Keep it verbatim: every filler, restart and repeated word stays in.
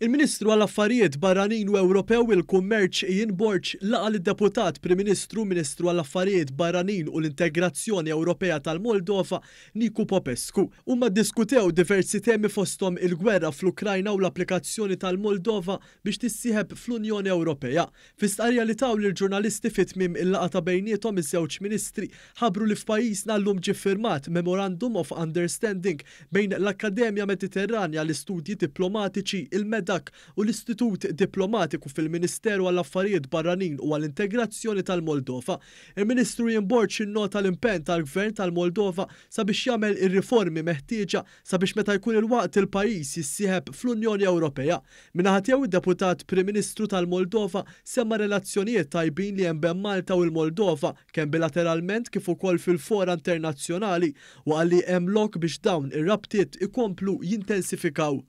Il-Ministru għall-Affarijiet Barranin u Ewropew il-Kummerċ Ian Borg laqa' lid-Deputat Prim Ministru, Ministru għall-Affarijiet Barranin u l-Integrazzjoni Ewropea tal-Moldova Nicu Popescu. Huma ddiskutew diversi temi, fosthom il-gwerra fl-Ukrajna u l-applikazzjoni tal-Moldova biex tissieħeb fl-Unjoni Ewropea. Fi stqarrija li taw lill-ġurnalisti fi tmiem il-laqgħa ta' bejniethom, iż-żewġ ministri ħabbru li f'pajjiżna llum ġie ffirmat Memorandum of Understanding bejn l-Akkademja Mediterranja l-Istudji Diplomatiċi, il-MEDAK, u l-Istitut Diplomatiku fil-Ministeru għall-Affarijiet Barranin u għall-Integrazzjoni tal-Moldova. Il-Ministru Ian Borg innota l-impenn tal-Gvern tal-Moldova sabiex jagħmel ir-riformi meħtieġa sabiex meta jkun il-waqt il-pajjiż jissieħeb fl-Unjoni Ewropea. Min-naħa tiegħu, id-Deputat Prim Ministru tal-Moldova semma relazzjonijiet tajbin li hemm bejn Malta u l-Moldova, kemm bilateralment kif ukoll fil-fora internazzjonali, u qal li hemm lok biex dawn ir-rabtiet ikomplu jintensifikaw.